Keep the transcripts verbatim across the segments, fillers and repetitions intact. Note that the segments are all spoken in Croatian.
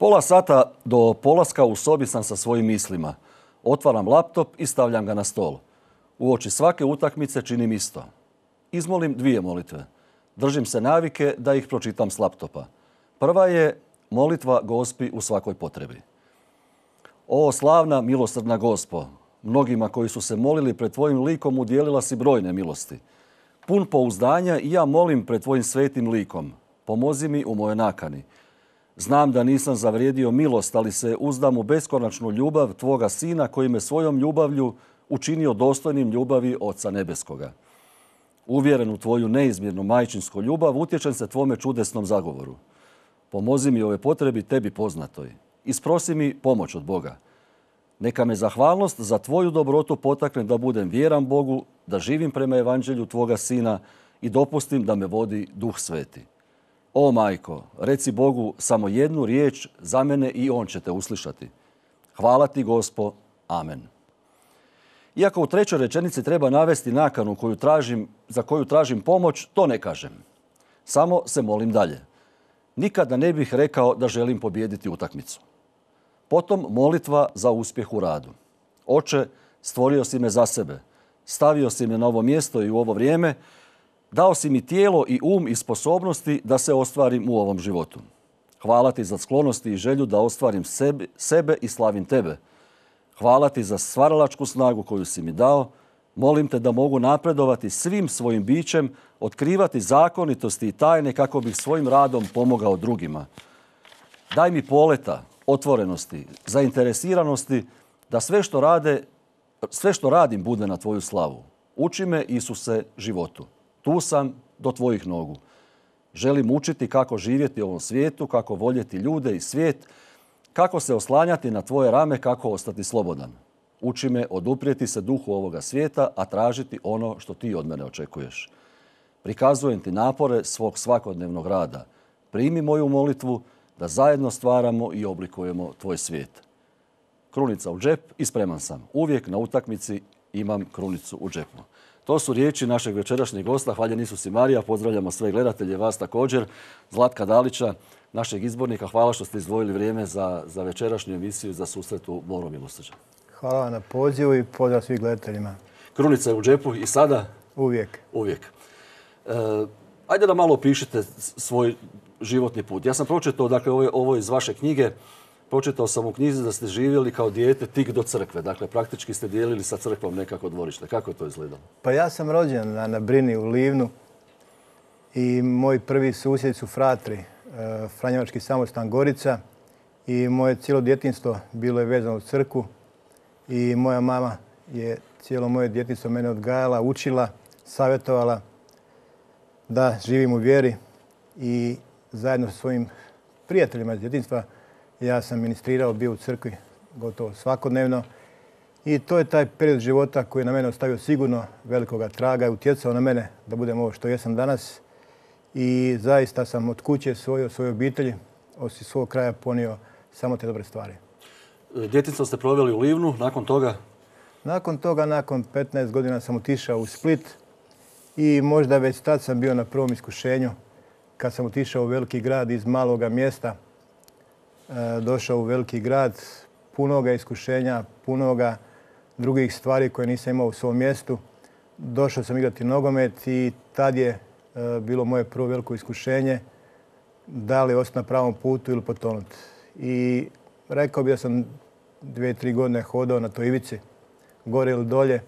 Pola sata do polaska u sobi sam sa svojim mislima. Otvaram laptop i stavljam ga na stol. Uoči svake utakmice činim isto. Izmolim dvije molitve. Držim se navike da ih pročitam s laptopa. Prva je molitva Gospi u svakoj potrebi. O slavna milosrdna Gospo, mnogima koji su se molili pred tvojim likom udjelila si brojne milosti. Pun pouzdanja i ja molim pred tvojim svetim likom. Pomozi mi u mojoj nakani. Znam da nisam zavrijedio milost, ali se uzdam u beskonačnu ljubav tvoga sina koji me svojom ljubavlju učinio dostojnim ljubavi Oca Nebeskoga. Uvjeren u tvoju neizmjernu majčinsku ljubav, utječem se tvome čudesnom zagovoru. Pomozi mi ove potrebi tebi poznatoj. Isprosi mi pomoć od Boga. Neka me zahvalnost za tvoju dobrotu potakne da budem vjeran Bogu, da živim prema evanđelju tvoga sina i dopustim da me vodi Duh Sveti. O majko, reci Bogu samo jednu riječ za mene i on će te uslišati. Hvala ti, Gospo. Amen. Iako u trećoj rečenici treba navesti nakanu koju tražim, za koju tražim pomoć, to ne kažem. Samo se molim dalje. Nikada ne bih rekao da želim pobijediti utakmicu. Potom molitva za uspjeh u radu. Oče, stvorio si me za sebe. Stavio si me na ovo mjesto i u ovo vrijeme. Dao si mi tijelo i um i sposobnosti da se ostvarim u ovom životu. Hvala ti za sklonosti i želju da ostvarim sebe, sebe i slavim tebe. Hvala ti za stvaralačku snagu koju si mi dao. Molim te da mogu napredovati svim svojim bićem, otkrivati zakonitosti i tajne kako bih svojim radom pomogao drugima. Daj mi poleta, otvorenosti, zainteresiranosti da sve što rade, sve što radim bude na tvoju slavu. Uči me, Isuse, životu. Tu sam do tvojih nogu. Želim učiti kako živjeti u ovom svijetu, kako voljeti ljude i svijet, kako se oslanjati na tvoje rame, kako ostati slobodan. Uči me oduprijeti se duhu ovoga svijeta, a tražiti ono što ti od mene očekuješ. Prikazujem ti napore svog svakodnevnog rada. Primi moju molitvu da zajedno stvaramo i oblikujemo tvoj svijet. Krunica u džep i spreman sam. Uvijek na utakmici imam krunicu u džepu. To su riječi našeg večerašnjeg gosta. Hvaljen Isus i Marija. Pozdravljamo sve gledatelje, vas također. Zlatka Dalića, našeg izbornika. Hvala što ste izdvojili vrijeme za, za večerašnju emisiju za susret u Moru milosrđa. Hvala vam na pozivu i pozdrav svih gledateljima. Krunica je u džepu i sada? Uvijek. Uvijek. E, ajde da malo opišite svoj životni put. Ja sam pročitao, dakle, ovo, ovo iz vaše knjige, pročitao sam u knjizi da ste živjeli kao dijete tik do crkve. Dakle, praktički ste dijelili sa crkvom nekako dvorište. Kako je to izgledalo? Pa ja sam rođen na, na Brini u Livnu i moji prvi susjedi su fratri, e, Franjevački samostan Gorica, i moje cijelo djetinjstvo bilo je vezano u crkvu i moja mama je cijelo moje djetinjstvo mene odgajala, učila, savjetovala da živim u vjeri i zajedno sa svojim prijateljima iz djetinjstva ja sam ministrirao, bio u crkvi gotovo svakodnevno i to je taj period života koji je na mene ostavio sigurno velikoga traga i utjecao na mene da budem ovo što jesam danas. I zaista sam od kuće svoje, od svoje obitelji, osim svog kraja ponio samo te dobre stvari. Djetinjstvo ste proveli u Livnu, nakon toga? Nakon toga, nakon petnaest godina sam otišao u Split i možda već tad sam bio na prvom iskušenju kad sam otišao u veliki grad iz maloga mjesta. Došao u veliki grad, punoga iskušenja, punoga drugih stvari koje nisam imao u svom mjestu. Došao sam igrati nogomet i tad je bilo moje prvo veliko iskušenje da li ostati na pravom putu ili potonuti. I rekao bih da sam dvije, tri godine hodao na toj ivici, gore ili dolje,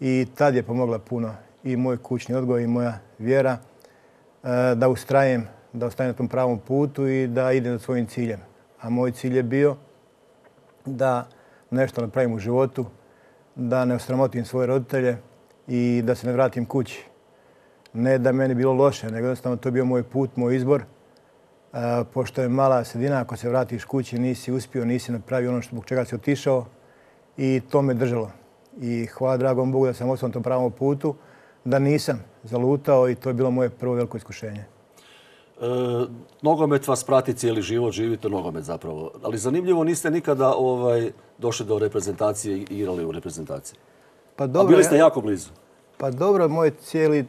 i tad je pomogla puno i moj kućni odgoj i moja vjera da ustrajem, da ostanem na tom pravom putu i da idem za svojim ciljem. A moj cilj je bio da nešto napravim u životu, da ne osramotim svoje roditelje i da se ne vratim kući. Ne da meni bilo loše, nego jednostavno to je bio moj put, moj izbor. E, pošto je mala sredina, ako se vratiš kući nisi uspio, nisi napravio ono zbog čega si otišao i to me držalo. I hvala dragom Bogu da sam ostao na tom pravom putu, da nisam zalutao i to je bilo moje prvo veliko iskušenje. E, nogomet vas prati cijeli život, živite nogomet zapravo. Ali zanimljivo, niste nikada ovaj, došli do reprezentacije i igrali u reprezentaciji. Pa dobro, a bili ste jako blizu. Pa dobro, moj cijeli,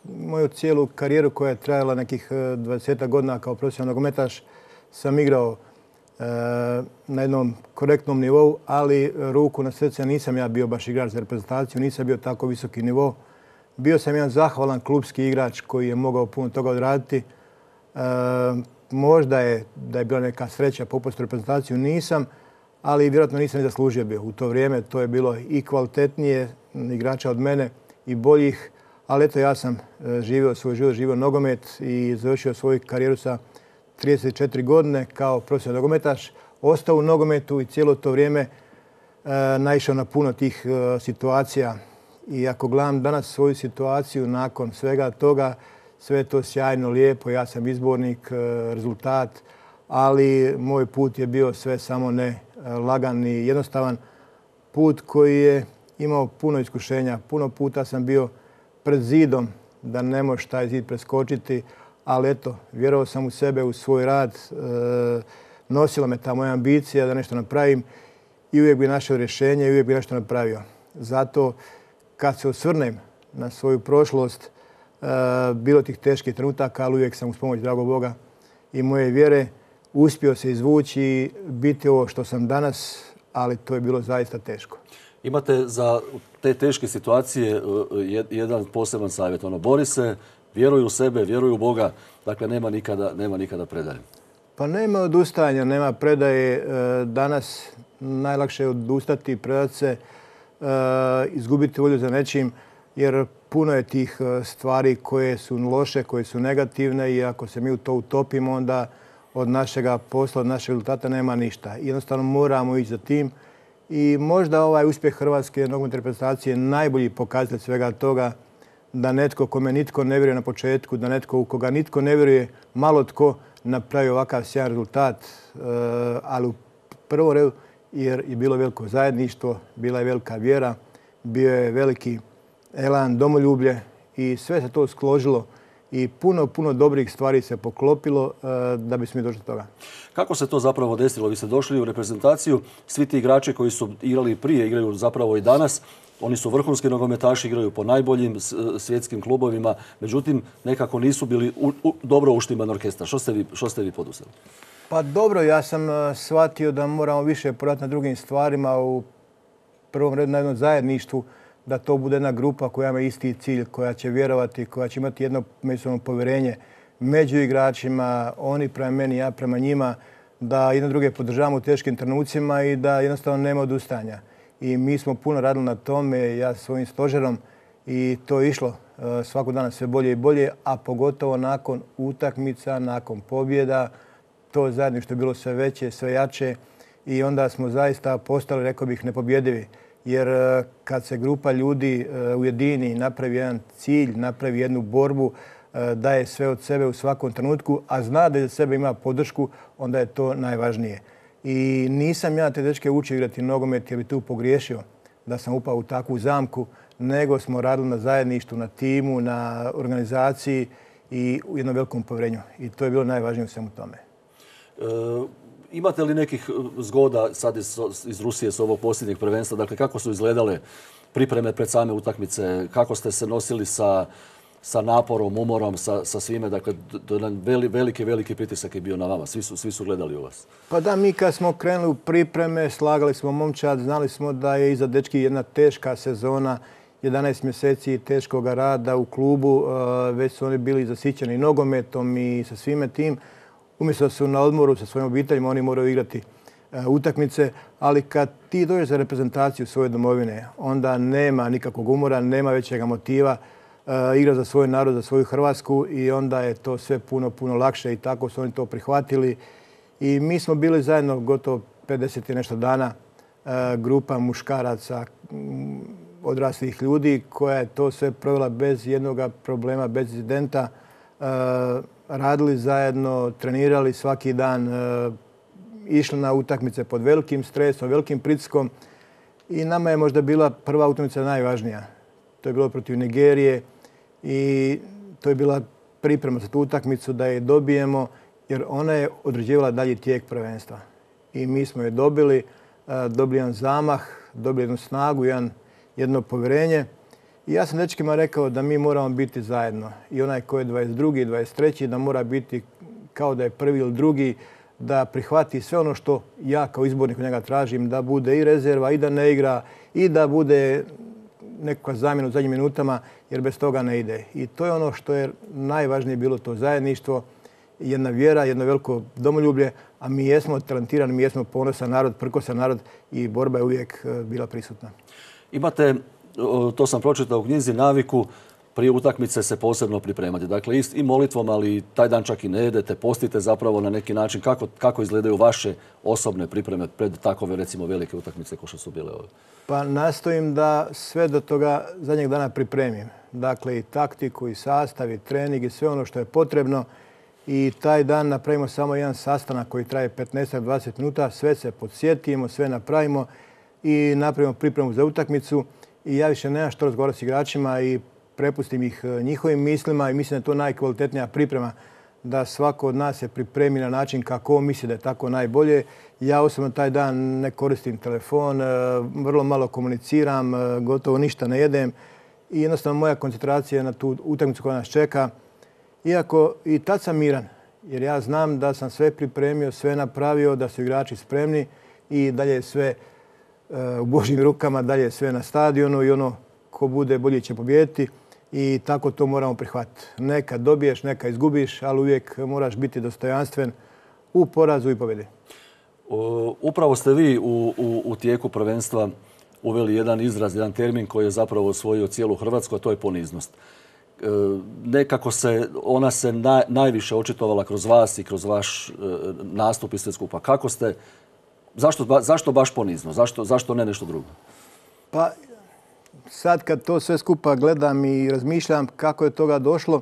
moju cijelu karijeru koja je trajala nekih dvadeset godina kao profesionalni nogometaš sam igrao na jednom korektnom nivou, ali ruku na srce nisam ja bio baš igrač za reprezentaciju, nisam bio tako visoki nivo. Bio sam jedan zahvalan klubski igrač koji je mogao puno toga odraditi. Možda je da je bila neka sreća popust reprezentaciju, nisam, ali vjerojatno nisam ni zaslužio bio. U to vrijeme to je bilo i kvalitetnije igrača od mene i boljih, ali eto ja sam živio svoj život, živio nogomet i završio svoju karijeru sa trideset četiri godine kao profesionalni nogometaš. Ostao u nogometu i cijelo to vrijeme naišao na puno tih situacija. I ako gledam danas svoju situaciju nakon svega toga, sve je to sjajno, lijepo, ja sam izbornik, rezultat, ali moj put je bio sve samo ne lagan i jednostavan put koji je imao puno iskušenja. Puno puta sam bio pred zidom da ne možeš taj zid preskočiti, ali eto, vjerovao sam u sebe, u svoj rad, nosila me ta moja ambicija da nešto napravim i uvijek bi našao rješenje i uvijek bi nešto napravio. Zato kad se osvrnem na svoju prošlost, bilo tih teških trenutaka, ali uvijek sam uz pomoć dragog Boga i moje vjere uspio se izvući i biti ovo što sam danas, ali to je bilo zaista teško. Imate za te teške situacije jedan poseban savjet. Ono, bori se, vjeruj u sebe, vjeruj u Boga, dakle nema nikada, nema nikada predaje. Pa nema odustajanja, nema predaje. Danas najlakše je odustati, predati se, izgubiti volju za nečim, jer puno je tih stvari koje su loše, koje su negativne i ako se mi u to utopimo, onda od našega posla, od našeg rezultata nema ništa. Jednostavno moramo ići za tim i možda ovaj uspjeh Hrvatske nogometne reprezentacije je najbolji pokazatelj svega toga, da netko kome nitko ne vjeruje na početku, da netko u koga nitko ne vjeruje, malo tko napravi ovakav sjajan rezultat, ali u prvom redu jer je bilo veliko zajedništvo, bila je velika vjera, bio je veliki elan, domoljublje i sve se to skložilo i puno, puno dobrih stvari se poklopilo da bismo mi došli do toga. Kako se to zapravo desilo? Vi ste došli u reprezentaciju, svi ti igrači koji su igrali prije, igraju zapravo i danas. Oni su vrhunski nogometaši, igraju po najboljim svjetskim klubovima, međutim nekako nisu bili u, u, dobro uštiman orkestar. Što ste vi, što ste vi poduzeli? Pa dobro, ja sam shvatio da moramo više poraditi na drugim stvarima, u prvom redu na jednom zajedništvu, da to bude jedna grupa koja ima isti cilj, koja će vjerovati, koja će imati jedno međusobno povjerenje među igračima, oni prema meni, ja prema njima, da jedno druge podržavamo u teškim trenucima i da jednostavno nema odustajanja. I mi smo puno radili na tome, ja svojim stožerom, i to je išlo svakog dana sve bolje i bolje, a pogotovo nakon utakmica, nakon pobjeda, to zajedništvo je bilo sve veće, sve jače i onda smo zaista postali, rekao bih, nepobjedivi. Jer kad se grupa ljudi ujedini, napravi jedan cilj, napravi jednu borbu, daje sve od sebe u svakom trenutku, a zna da za sebe ima podršku, onda je to najvažnije. I nisam ja te dečke učio igrati nogomet jer bi tu pogriješio da sam upao u takvu zamku, nego smo radili na zajedništvu, na timu, na organizaciji i u jednom velikom povjerenju. I to je bilo najvažnije u svemu tome. E, imate li nekih zgoda sad iz, iz Rusije s ovog posljednjeg prvenstva? Dakle, kako su izgledale pripreme pred same utakmice? Kako ste se nosili sa, sa naporom, umorom, sa, sa svime? Dakle, veli, veliki, veliki pritisak je bio na vama. Svi su, svi su gledali u vas. Pa da, mi kad smo krenuli u pripreme, slagali smo momčad, znali smo da je iza dečki jedna teška sezona, jedanaest mjeseci teškog rada u klubu, već su oni bili zasićeni nogometom i sa svime tim. Umjesto da su na odmoru sa svojim obiteljima, oni moraju igrati utakmice, ali kad ti dođeš za reprezentaciju svoje domovine, onda nema nikakvog umora, nema većega motiva, igra za svoj narod, za svoju Hrvatsku i onda je to sve puno, puno lakše i tako su oni to prihvatili. I mi smo bili zajedno gotovo pedeset i nešto dana, grupa muškaraca, odraslih ljudi koja je to sve provela bez jednog problema, bez incidenta. Radili zajedno, trenirali svaki dan, išli na utakmice pod velikim stresom, velikim pritiskom i nama je možda bila prva utakmica najvažnija. To je bilo protiv Nigerije i to je bila priprema za tu utakmicu da je dobijemo jer ona je određivala dalji tijek prvenstva. I mi smo je dobili, dobili jedan zamah, dobili jednu snagu, jedan, jedno povjerenje. I ja sam dečkima rekao da mi moramo biti zajedno. I onaj ko je dvadeset drugi, dvadeset treći da mora biti kao da je prvi ili drugi, da prihvati sve ono što ja kao izbornik od njega tražim, da bude i rezerva, i da ne igra, i da bude nekakva zamjena u zadnjim minutama, jer bez toga ne ide. I to je ono što je najvažnije bilo, to zajedništvo, jedna vjera, jedno veliko domoljublje, a mi jesmo talentirani, mi jesmo ponosan narod, prkosan narod i borba je uvijek bila prisutna. Imate, to sam pročitao u knjizi, naviku prije utakmice se posebno pripremati. Dakle, i molitvom, ali taj dan čak i ne jedete, postite zapravo na neki način. Kako, kako izgledaju vaše osobne pripreme pred takove, recimo, velike utakmice kao što su bile ove? Pa nastojim da sve do toga zadnjeg dana pripremim. Dakle, i taktiku, i sastav, i trening, i sve ono što je potrebno. I taj dan napravimo samo jedan sastanak koji traje petnaest do dvadeset minuta. Sve se podsjetimo, sve napravimo i napravimo pripremu za utakmicu. I ja više nemam što razgovarati s igračima i prepustim ih njihovim mislima i mislim da je to najkvalitetnija priprema, da svako od nas se pripremi na način kako on misli da je tako najbolje. Ja osobno taj dan ne koristim telefon, vrlo malo komuniciram, gotovo ništa ne jedem i jednostavno moja koncentracija je na tu utakmicu koja nas čeka. Iako i tad sam miran, jer ja znam da sam sve pripremio, sve napravio, da su igrači spremni i dalje je sve u Božjim rukama, dalje je sve na stadionu i ono ko bude bolji će pobijediti i tako to moramo prihvatiti. Nekad dobiješ, nekad izgubiš, ali uvijek moraš biti dostojanstven u porazu i pobjedi. Upravo ste vi u, u, u tijeku prvenstva uveli jedan izraz, jedan termin koji je zapravo osvojio cijelu Hrvatsku, a to je poniznost. E, nekako se, ona se na, najviše očitovala kroz vas i kroz vaš e, nastup i sve skupa. Kako ste, zašto, ba, zašto baš ponizno? Zašto, zašto ne nešto drugo? Pa sad kad to sve skupa gledam i razmišljam kako je toga došlo,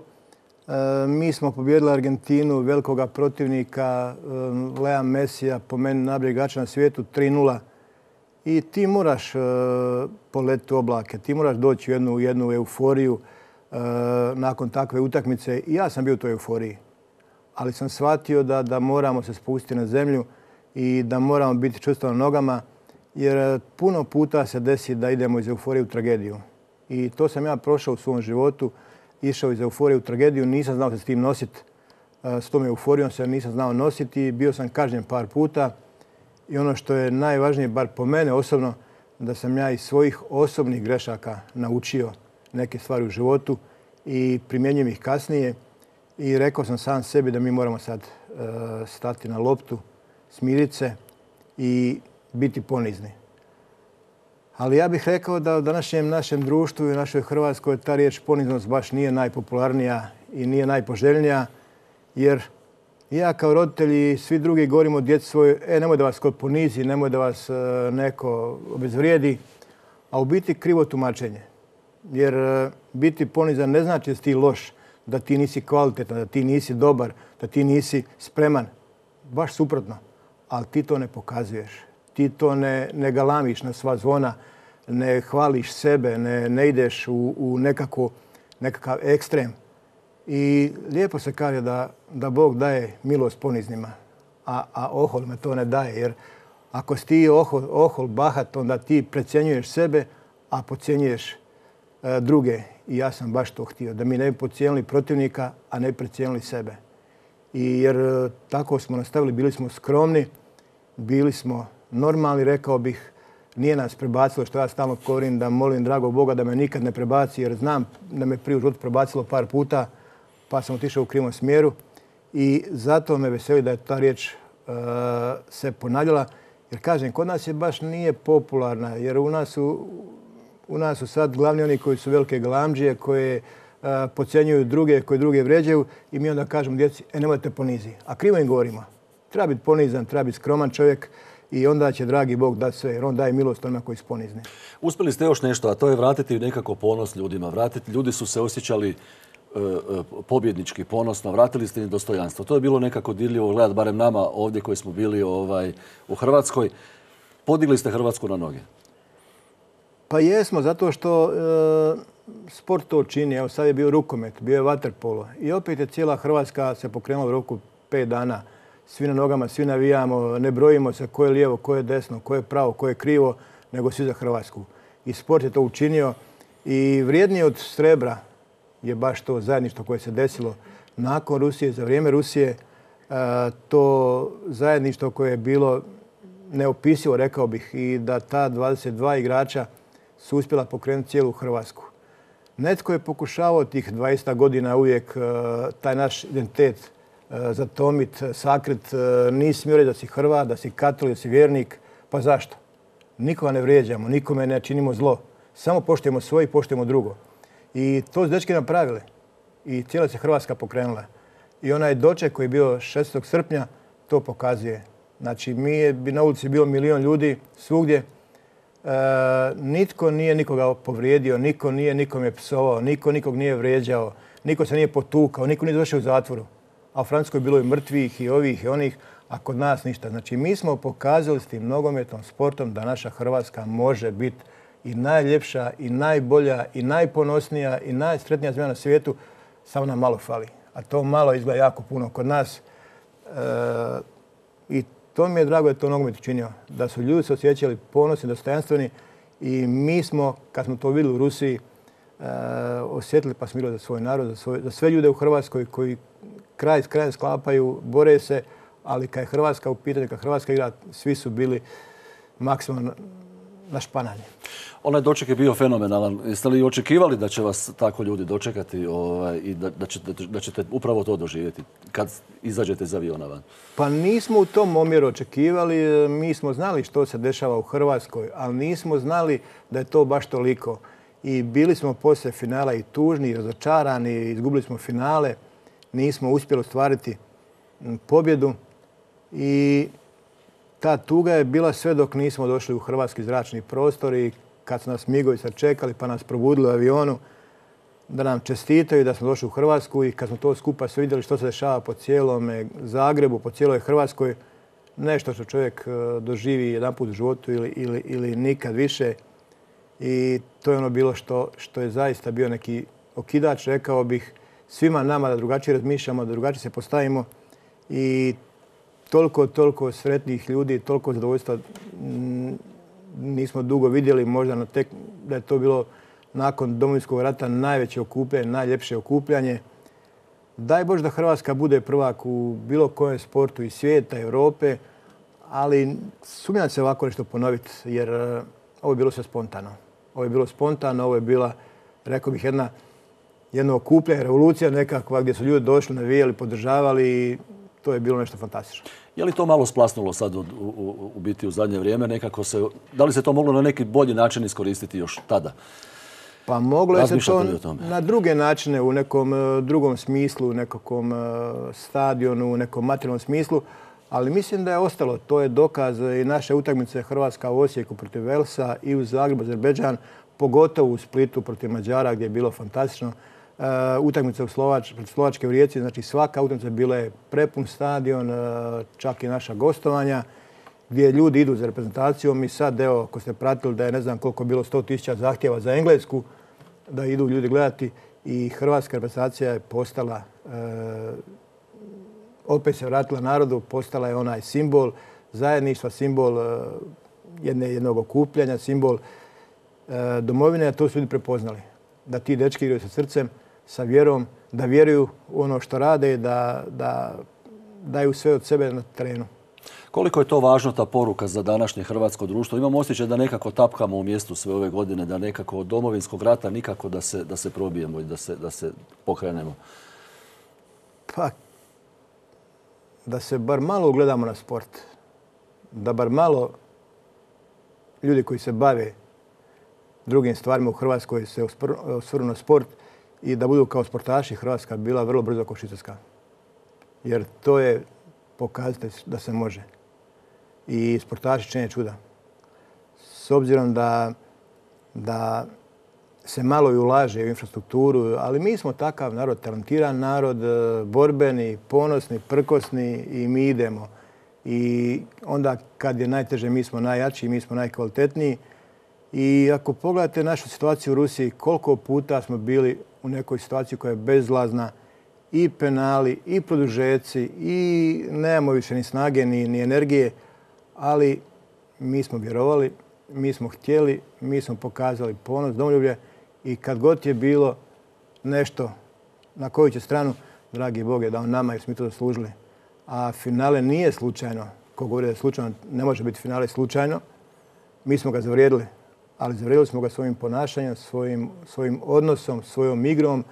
e, mi smo pobijedili Argentinu, velikoga protivnika, e, Lea Messija, po meni najboljeg igrača na svijetu, tri nula. I ti moraš e, poletiti u oblake, ti moraš doći u jednu, jednu euforiju e, nakon takve utakmice. I ja sam bio u toj euforiji, ali sam shvatio da, da moramo se spustiti na zemlju i da moramo biti čvrsto na nogama, jer puno puta se desi da idemo iz euforije u tragediju. I to sam ja prošao u svom životu, išao iz euforije u tragediju, nisam znao se s tim nositi. S tom euforijom se nisam znao nositi, bio sam kažnjen par puta. I ono što je najvažnije, bar po mene osobno, da sam ja iz svojih osobnih grešaka naučio neke stvari u životu i primjenjujem ih kasnije. I rekao sam sam sebi da mi moramo sad uh, stati na loptu, smiriti se i biti ponizni. Ali ja bih rekao da u današnjem našem društvu i našoj Hrvatskoj ta riječ poniznost baš nije najpopularnija i nije najpoželjnija, jer ja kao roditelj i svi drugi govorimo djeci svojoj, e, nemoj da vas kod ponizi, nemoj da vas e, neko obezvrijedi, a u biti krivo tumačenje. Jer e, biti ponizan ne znači da si ti loš, da ti nisi kvalitetan, da ti nisi dobar, da ti nisi spreman. Baš suprotno. Ali ti to ne pokazuješ. Ti to ne, ne galamiš na sva zvona, ne hvališ sebe, ne, ne ideš u, u nekako, nekakav ekstrem. I lijepo se kaže da, da Bog daje milost poniznima, a, a ohol me to ne daje. Jer ako si ti ohol, ohol bahat, onda ti precjenjuješ sebe, a podcjenjuješ e, druge. I ja sam baš to htio, da mi ne bi podcijenili protivnika, a ne precijenili sebe. I jer e, tako smo nastavili, bili smo skromni, bili smo normalni, rekao bih, nije nas prebacilo, što ja stalno govorim, da molim dragog Boga da me nikad ne prebaci, jer znam da me prije u životu prebacilo par puta, pa sam otišao u krivom smjeru. I zato me veseli da je ta riječ uh, se ponavljala. Jer kažem, kod nas je baš nije popularna, jer u nas su, u nas su sad glavni oni koji su velike galamdžije, koje uh, podcjenjuju druge, koji druge vređaju i mi onda kažemo djeci, e nemojte ponizi. A krivo im govorimo. Treba biti ponizan, treba biti skroman čovjek i onda će dragi Bog dati sve, jer on daje milost onima koji su ponizni. Uspjeli ste još nešto, a to je vratiti nekako ponos ljudima. Vratiti, ljudi su se osjećali e, pobjednički, ponosno, vratili ste im dostojanstvo. To je bilo nekako dirljivo gledati, barem nama ovdje koji smo bili ovaj, u Hrvatskoj. Podigli ste Hrvatsku na noge. Pa jesmo, zato što e, sport to čini. Evo sad je bio rukomet, bio je vaterpolo. I opet je cijela Hrvatska se pokrenula u roku pet dana. Svi na nogama, svi navijamo, ne brojimo se ko je lijevo, ko je desno, ko je pravo, ko je krivo, nego svi za Hrvatsku. I sport je to učinio. I vrijednije od srebra je baš to zajedništvo koje se desilo nakon Rusije, za vrijeme Rusije, to zajedništvo koje je bilo neopisivo, rekao bih, i da ta dvadeset dva igrača su uspjela pokrenuti cijelu Hrvatsku. Netko je pokušavao tih dvadeset godina uvijek taj naš identitet zatomit, sakrit. Nisi smio reći da si Hrvat, da si katolik, da si vjernik. Pa zašto? Nikoga ne vrijeđamo, nikome ne činimo zlo. Samo poštujemo svoje i poštujemo drugo. I to su dečki napravili. I cijela se Hrvatska pokrenula. I onaj doček koji je bio šestog srpnja to pokazuje. Znači, mi je na ulici bilo milion ljudi svugdje. E, nitko nije nikoga povrijedio, niko nije nikome psovao, niko nikog nije vrijeđao, niko se nije potukao, niko nije završio u zatvoru. A u Francuskoj je bilo i mrtvih, i ovih, i onih, a kod nas ništa. Znači, mi smo pokazali s tim nogometnom sportom da naša Hrvatska može biti i najljepša, i najbolja, i najponosnija, i najsretnija zemlja na svijetu, samo nam malo fali. A to malo izgleda jako puno kod nas. E, I to mi je drago da je to nogomet učinio. Da su ljudi se osjećali ponosni, dostojanstveni i mi smo, kad smo to vidjeli u Rusiji, e, osjetili pa smilo za svoj narod, za, svoj, za sve ljude u Hrvatskoj koji kraj s krajem sklapaju, bore se, ali kad je Hrvatska u pitanju, kad Hrvatska igra, svi su bili maksimalno na špananje. Onaj doček je bio fenomenalan. Jeste li očekivali da će vas tako ljudi dočekati ovaj, i da, da, ćete, da ćete upravo to doživjeti kad izađete iz aviona van? Pa nismo u tom omjeru očekivali. Mi smo znali što se dešava u Hrvatskoj, ali nismo znali da je to baš toliko. I bili smo poslije finala i tužni, i razočarani, izgubili smo finale. Nismo uspjeli ostvariti pobjedu i ta tuga je bila sve dok nismo došli u hrvatski zračni prostor i kad su nas migovi sačekali pa nas probudili u avionu da nam čestitaju da smo došli u Hrvatsku i kad smo to skupa sve vidjeli što se dešava po cijelom Zagrebu, po cijeloj Hrvatskoj, nešto što čovjek doživi jedanput u životu ili, ili, ili nikad više. I to je ono bilo što, što je zaista bio neki okidač, rekao bih, svima nama da drugačije razmišljamo, da drugačije se postavimo i toliko, toliko sretnih ljudi, toliko zadovoljstva nismo dugo vidjeli, možda na tek, da je to bilo nakon Domovinskog rata najveće okupljanje, najljepše okupljanje. Daj Bože da Hrvatska bude prvak u bilo kojem sportu iz svijeta, Europe, ali sumnjam se ovako nešto ponoviti, jer ovo je bilo sve spontano. Ovo je bilo spontano, ovo je bila, rekao bih, jedna jedno okupljanje, revolucija nekakva gdje su ljudi došli, navijali, podržavali i to je bilo nešto fantastično. Je li to malo splasnulo sad u, u, u biti u zadnje vrijeme? Nekako se, da li se to moglo na neki bolji način iskoristiti još tada? Pa moglo je se to na druge načine, u nekom drugom smislu, u nekakvom stadionu, u nekom materijalnom smislu, ali mislim da je ostalo. To je dokaz i naše utakmice Hrvatska u Osijeku protiv Velsa i u Zagrebu, Azerbejdžan, pogotovo u Splitu protiv Mađara gdje je bilo fantastično. Uh, utakmica u Slovač, Slovačke u Rijeci, znači svaka utakmica bila je prepun stadion, uh, čak i naša gostovanja, gdje ljudi idu za reprezentacijom i sad, evo, ako ste pratili da je ne znam koliko bilo sto tisuća zahtjeva za Englesku, da idu ljudi gledati i hrvatska reprezentacija je postala, uh, opet se vratila narodu, postala je onaj simbol zajedništva, simbol uh, jedne, jednog okupljanja, simbol uh, domovine, a to su ljudi prepoznali. Da ti dečki igraju sa srcem, sa vjerom, da vjeruju u ono što rade, da, da daju sve od sebe na terenu. Koliko je to važno, ta poruka za današnje hrvatsko društvo? Imam osjećaj da nekako tapkamo u mjestu sve ove godine, da nekako od Domovinskog rata nikako da se, da se probijemo i da se, da se pokrenemo. Pa, da se bar malo ugledamo na sport. Da bar malo ljudi koji se bave drugim stvarima u Hrvatskoj se osvrnu na sport i da budu kao sportaši. Hrvatska bila vrlo brzo kao Švicarska. Jer to je pokazatelj da se može. I sportaši čine čuda. S obzirom da, da se malo i ulaže u infrastrukturu, ali mi smo takav narod, talentiran narod, borbeni, ponosni, prkosni i mi idemo. I onda kad je najteže mi smo najjači, mi smo najkvalitetniji. I ako pogledate našu situaciju u Rusiji, koliko puta smo bili u nekoj situaciji koja je bezlazna, i penali, i produžeci, i nemamo više ni snage, ni, ni energije, ali mi smo vjerovali, mi smo htjeli, mi smo pokazali ponos, domoljublje i kad god je bilo nešto na koju će stranu, dragi Bog je dao nama jer smo mi to zaslužili. A finale nije slučajno. Ko govori da je slučajno, ne može biti finale slučajno. Mi smo ga zavrijedili, ali zavrijedili smo ga svojim ponašanjem, svojim, svojim odnosom, svojom igrom,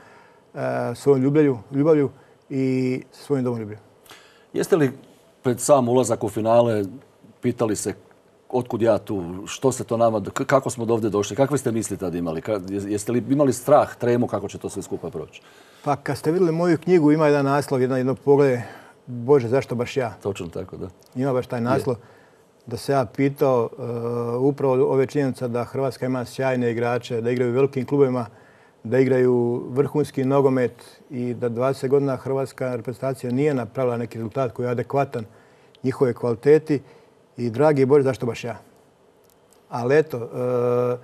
svojom ljubavlju, ljubavlju i svojim domoljubljem. Jeste li pred sam ulazak u finale pitali se otkud ja tu, što se to nama, kako smo do ovdje došli, kakve ste misli tad imali? Jeste li imali strah, tremu kako će to sve skupa proći? Pa kad ste vidjeli moju knjigu, ima jedan naslov, jedan jedno pogled, Bože, zašto baš ja? Točno tako, da. Ima baš taj naslov. Da se ja pitao uh, upravo ove činjenice da Hrvatska ima sjajne igrače, da igraju u velikim klubovima, da igraju vrhunski nogomet i da dvadeset godina hrvatska reprezentacija nije napravila neki rezultat koji je adekvatan njihove kvaliteti. I dragi Bože, zašto baš ja? Ali eto, uh,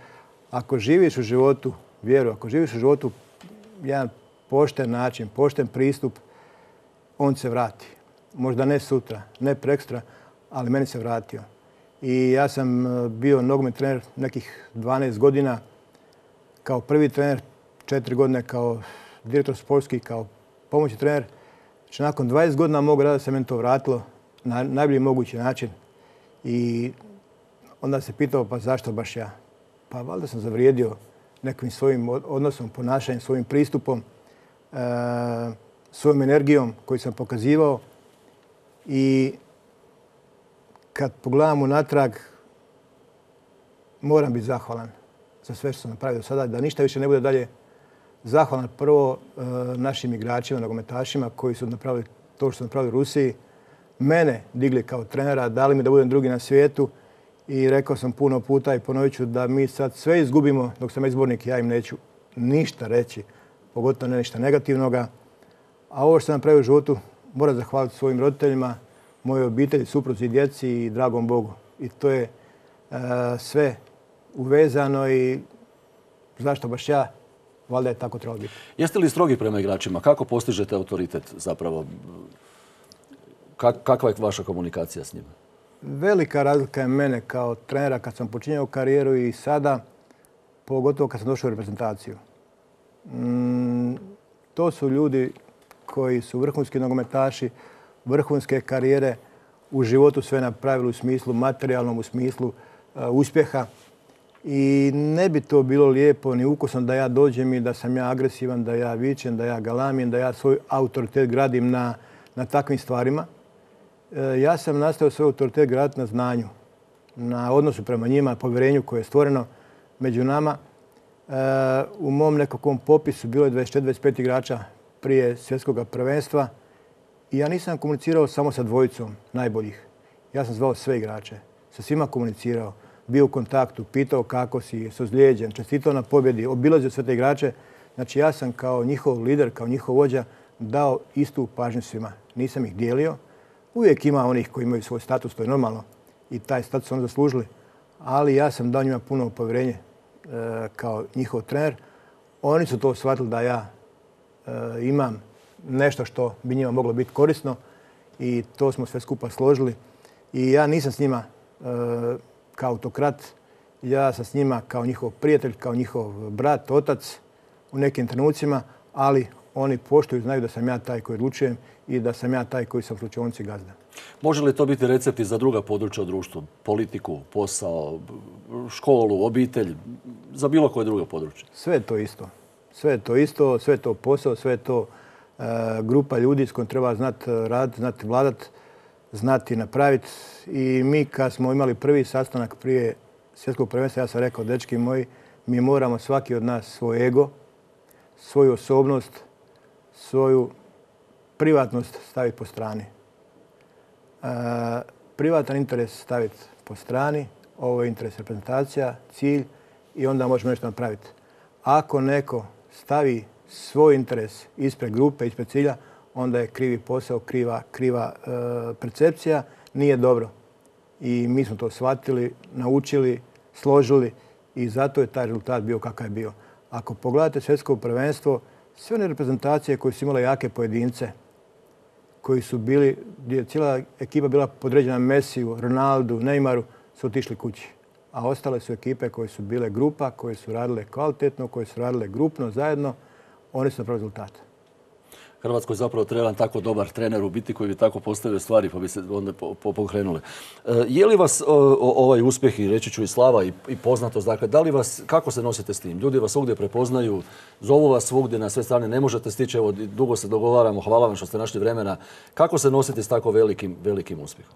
ako živiš u životu vjeru, ako živiš u životu jedan pošten način, pošten pristup, on se vrati. Možda ne sutra, ne prekstra, ali meni se vratio. I ja sam bio nogometni trener nekih dvanaest godina, kao prvi trener, četiri godine kao direktor sportski, kao pomoćni trener. Znači, nakon dvadeset godina mog rada se meni to vratilo na najbolji mogući način. I onda se pitao, pa zašto baš ja? Pa valjda sam zavrijedio nekim svojim odnosom, ponašanjem, svojim pristupom, e, svojom energijom koju sam pokazivao. I kad pogledam unatrag, moram biti zahvalan za sve što sam napravio do sada, da ništa više ne bude dalje. Zahvalan prvo e, našim igračima, nogometašima koji su napravili to što su napravili u Rusiji. Mene digli kao trenera, dali mi da budem drugi na svijetu i rekao sam puno puta i ponovit ću da mi sad sve izgubimo dok sam izbornik, ja im neću ništa reći, pogotovo ne ništa negativnoga. A ovo što sam napravio u životu moram zahvaliti svojim roditeljima, mojoj obitelji, supruzi, djeci i dragom Bogu. I to je uh, sve uvezano i zašto baš ja? Valjda je tako trebalo biti. Jeste li strogi prema igračima? Kako postižete autoritet zapravo? Kakva je vaša komunikacija s njima? Velika razlika je mene kao trenera kad sam počinjao karijeru i sada, pogotovo kad sam došao u reprezentaciju. Mm, to su ljudi koji su vrhunski nogometaši, vrhunske karijere, u životu sve napravili u smislu materijalnom, u smislu uh, uspjeha. I ne bi to bilo lijepo ni ukusno da ja dođem i da sam ja agresivan, da ja vičem, da ja galamim, da ja svoj autoritet gradim na, na takvim stvarima. E, ja sam nastavio svoj autoritet graditi na znanju, na odnosu prema njima, povjerenju koje je stvoreno među nama. E, u mom nekakvom popisu bilo je dvadeset četiri dvadeset pet igrača prije svjetskog prvenstva i ja nisam komunicirao samo sa dvojicom najboljih. Ja sam zvao sve igrače, sa svima komunicirao, bio u kontaktu, pitao kako si, se ozlijeđen, čestitao na pobjedi, obilazio sve te igrače. Znači ja sam kao njihov lider, kao njihov vođa dao istu pažnju svima. Nisam ih dijelio. Uvijek ima onih koji imaju svoj status, to je normalno i taj status su oni zaslužili. Ali ja sam dao njima puno povjerenje e, kao njihov trener. Oni su to shvatili da ja e, imam nešto što bi njima moglo biti korisno i to smo sve skupa složili. I ja nisam s njima e, kao autokrat, ja sam s njima kao njihov prijatelj, kao njihov brat, otac u nekim trenucima, ali oni poštuju, znaju da sam ja taj koji odlučujem i da sam ja taj koji sam u slučajnici gazda. Može li to biti recepti za druga područja u društvu? Politiku, posao, školu, obitelj, za bilo koje drugo područje? Sve je to isto. Sve je to isto, sve je to posao, sve je to uh, grupa ljudi s kojom treba znati raditi, znati vladati, znati napraviti. I mi kad smo imali prvi sastanak prije svjetskog prvenstva, ja sam rekao, dečki moji, mi moramo svaki od nas svoj ego, svoju osobnost, svoju privatnost staviti po strani. E, privatan interes staviti po strani, ovo je interes reprezentacija, cilj i onda možemo nešto napraviti. Ako neko stavi svoj interes ispred grupe, ispred cilja, onda je krivi posao, kriva, kriva e, percepcija, nije dobro. I mi smo to shvatili, naučili, složili i zato je taj rezultat bio kakav je bio. Ako pogledate svjetsko prvenstvo, sve one reprezentacije koje su imale jake pojedince, koji su bili, gdje je cijela ekipa bila podređena Messiju, Ronaldu, Neymaru, su otišli kući. A ostale su ekipe koje su bile grupa, koje su radile kvalitetno, koje su radile grupno, zajedno, oni su napravili rezultat. Hrvatskoj zapravo treba tako dobar trener u biti koji bi tako postavio stvari pa bi se onda pokrenule. Je li vas ovaj uspjeh i reći ću i slava i poznatost, dakle, da li vas, kako se nosite s tim? Ljudi vas svugdje prepoznaju, zovu vas svugdje na sve strane, ne možete stići, evo dugo se dogovaramo, hvala vam što ste našli vremena. Kako se nosite s tako velikim, velikim uspjehom?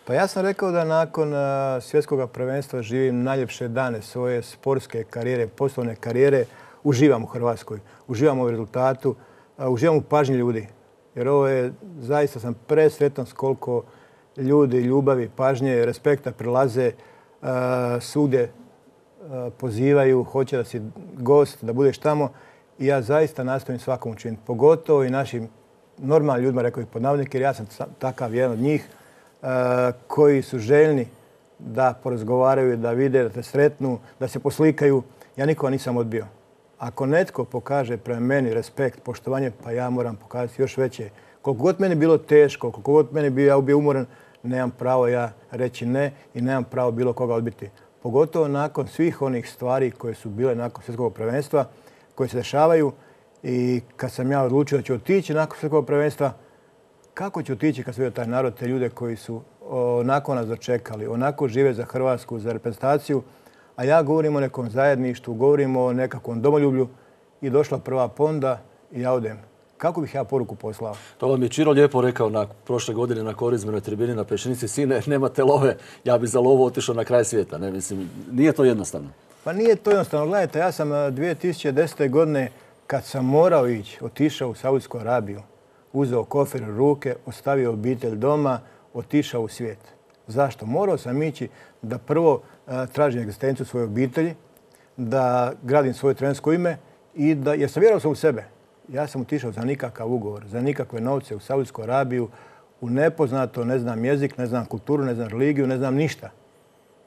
Pa ja sam rekao da nakon svjetskog prvenstva živim najljepše dane svoje sportske karijere, poslovne karijere. Uživam u Hrvatskoj, uživam u rezultatu, uživam u pažnji ljudi. Jer ovo je, zaista sam presretan s koliko ljudi, ljubavi, pažnje, respekta prilaze, svugdje pozivaju, hoće da si gost, da budeš tamo. I ja zaista nastojim svakom učiniti. Pogotovo i našim normalnim ljudima, rekao bih pod navodnike, jer ja sam takav jedan od njih, koji su željni da porazgovaraju, da vide, da te sretnu, da se poslikaju. Ja nikoga nisam odbio. Ako netko pokaže prema meni respekt, poštovanje, pa ja moram pokazati još veće. Koliko god meni bilo teško, koliko god meni bio, ja bio umoran, nemam pravo ja reći ne i nemam pravo bilo koga odbiti. Pogotovo nakon svih onih stvari koje su bile nakon svjetskog prvenstva, koje se dešavaju i kad sam ja odlučio da ću otići nakon svjetskog prvenstva, kako ću otići kad se vidio taj narod, te ljude koji su onako nas dočekali, onako žive za Hrvatsku, za reprezentaciju, a ja govorim o nekom zajedništvu, govorim o nekakvom domoljublju i došla prva ponda i ja odem. Kako bih ja poruku poslao? To vam je Čiro lijepo rekao na prošle godine na korizmenoj tribini na Pešenici. Sine, nemate love, ja bi za lovu otišao na kraj svijeta. Ne, mislim, nije to jednostavno. Pa nije to jednostavno. Gledajte, ja sam dvije tisuće desete. godine, kad sam morao ići, otišao u Saudsku Arabiju, uzeo kofer u ruke, ostavio obitelj doma, otišao u svijet. Zašto? Morao sam ići da prvo tražim egzistenciju svoje obitelji, da gradim svoje trenersko ime i da, jer sam vjerovao sam u sebe. Ja sam otišao za nikakav ugovor, za nikakve novce u Saudsku Arabiju, u nepoznato, ne znam jezik, ne znam kulturu, ne znam religiju, ne znam ništa.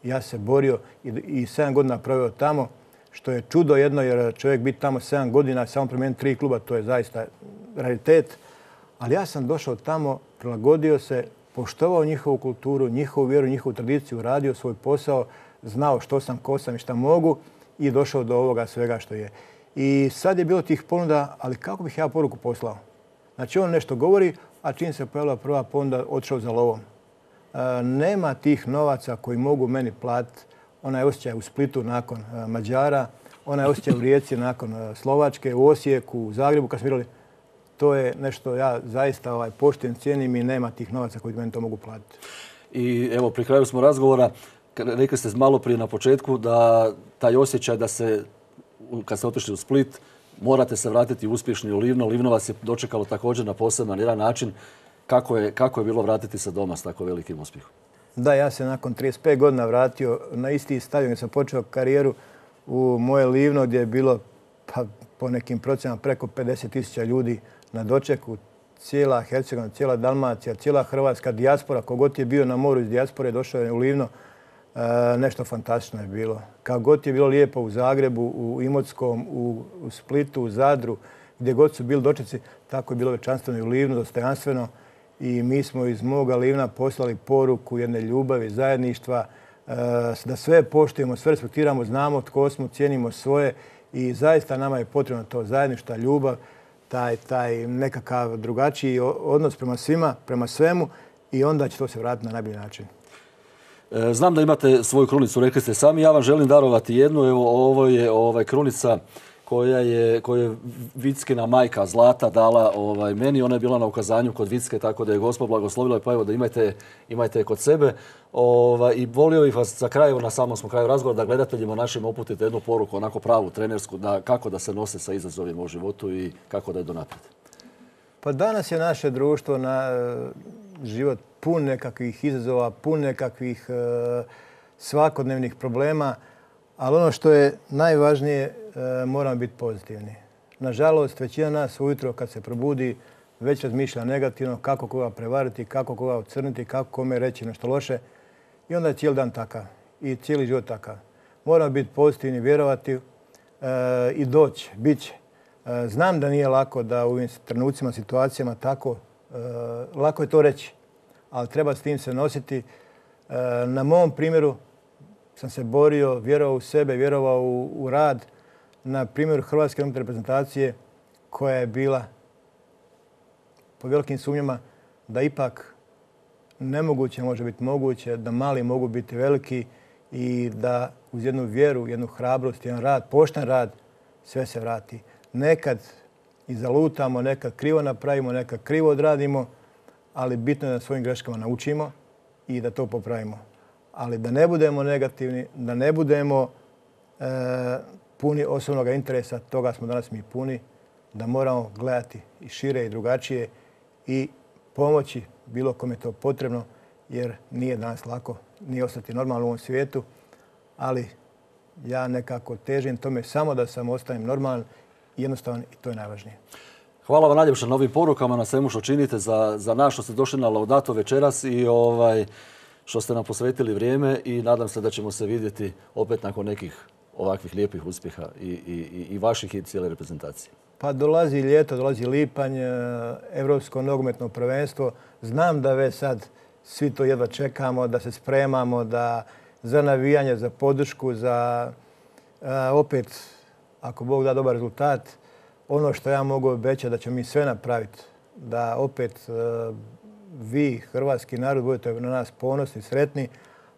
Ja se borio i, i sedam godina proveo tamo, što je čudo jedno, jer čovjek biti tamo sedam godina, samo promijeniti tri kluba, to je zaista raritet. Ali ja sam došao tamo, prilagodio se, poštovao njihovu kulturu, njihovu vjeru, njihovu tradiciju, radio svoj posao, znao što sam, ko sam i šta mogu i došao do ovoga svega što je. I sad je bilo tih ponuda, ali kako bih ja poruku poslao? Znači on nešto govori, a čim se pojavila prva ponuda, otišao za lovom. E, nema tih novaca koji mogu meni platiti. Onaj osjećaj u Splitu nakon e, Mađara, onaj osjećaj u Rijeci nakon e, Slovačke, u Osijeku, u Zagrebu kad smo igrali. To je nešto ja zaista ovaj, poštujem, cijenim i nema tih novaca koji meni to mogu platiti. I evo, pri kraju smo razgovora, rekli ste malo prije na početku da taj osjećaj da se, kad ste otišli u Split, morate se vratiti uspješni u Livno. Livno vas je dočekalo također na poseban jedan način. Kako je, kako je bilo vratiti se doma s tako velikim uspjehom? Da, ja se nakon trideset pet godina vratio na isti stadion gdje sam počeo karijeru u moje Livno gdje je bilo pa, po nekim procjenama preko pedeset tisuća ljudi na dočeku. Cijela Hercegovina, cijela Dalmacija, cijela hrvatska dijaspora, kogod je bio na moru iz dijaspore, došao je u Livno. E, nešto fantastično je bilo. Kako god je bilo lijepo u Zagrebu, u Imotskom, u, u Splitu, u Zadru, gdje god su bili dočeci, tako je bilo veličanstveno i u Livnu, dostojanstveno. I mi smo iz moga Livna poslali poruku jedne ljubavi, zajedništva, e, da sve poštujemo, sve respektiramo, znamo tko smo, cijenimo svoje i zaista nama je potrebno to zajedništvo, ljubav, taj, taj nekakav drugačiji odnos prema svima, prema svemu i onda će to se vratiti na najbolji način. Znam da imate svoju krunicu, rekli ste sami. Ja vam želim darovati jednu. Evo, ovo je ovaj, krunica koja je, koja je Vickina majka Zlata dala ovaj, meni. Ona je bila na ukazanju kod Vicke, tako da je Gospod blagoslovila. Pa evo da imajte, imajte je kod sebe. Ovaj, I volio bih vas za kraj, na samom smo kraju razgovora, da gledateljima našim uputite jednu poruku, onako pravu, trenersku, da, kako da se nose sa izazovima u životu i kako da je do naprijed. Pa danas je naše društvo na život pun nekakvih izazova, pun nekakvih e, svakodnevnih problema, ali ono što je najvažnije, e, moramo biti pozitivni. Nažalost, većina nas ujutro kad se probudi već razmišlja negativno kako koga prevariti, kako koga ocrniti, kako kome reći nešto loše i onda je cijeli dan takav i cijeli život takav. Moramo biti pozitivni, vjerovati e, i doći, bit će. E, znam da nije lako da u ovim trenucima, situacijama tako, e, lako je to reći, ali treba s tim se nositi. Na mom primjeru sam se borio, vjerovao u sebe, vjerovao u, u rad. Na primjeru Hrvatske reprezentacije koja je bila po velikim sumnjama da ipak nemoguće može biti moguće, da mali mogu biti veliki i da uz jednu vjeru, jednu hrabrost, jedan rad, pošten rad, sve se vrati. Nekad i zalutamo, nekad krivo napravimo, nekad krivo odradimo, ali bitno je da svojim greškama naučimo i da to popravimo. Ali da ne budemo negativni, da ne budemo e, puni osobnog interesa, toga smo danas mi puni, da moramo gledati i šire i drugačije i pomoći bilo kome je to potrebno, jer nije danas lako, nije ostati normalno u ovom svijetu, ali ja nekako težim tome samo da sam ostanem normalan i jednostavan i to je najvažnije. Hvala vam najljepša na ovim porukama, na svemu što činite za, za nas, što ste došli na Laudato večeras i ovaj, što ste nam posvetili vrijeme i nadam se da ćemo se vidjeti opet nakon nekih ovakvih lijepih uspjeha i, i, i vaših i cijele reprezentacije. Pa dolazi ljeto, dolazi lipanj, Europsko nogometno prvenstvo. Znam da već sad svi to jedva čekamo, da se spremamo da za navijanje, za podršku, za a, opet, ako Bog da dobar rezultat, ono što ja mogu obećati da ćemo mi sve napraviti, da opet a, vi, hrvatski narod, budete na nas ponosni, sretni,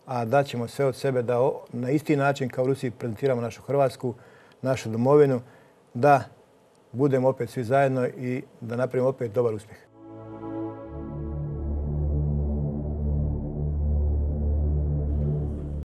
a da ćemo sve od sebe da o, na isti način kao u Rusiji prezentiramo našu Hrvatsku, našu domovinu, da budemo opet svi zajedno i da napravimo opet dobar uspjeh.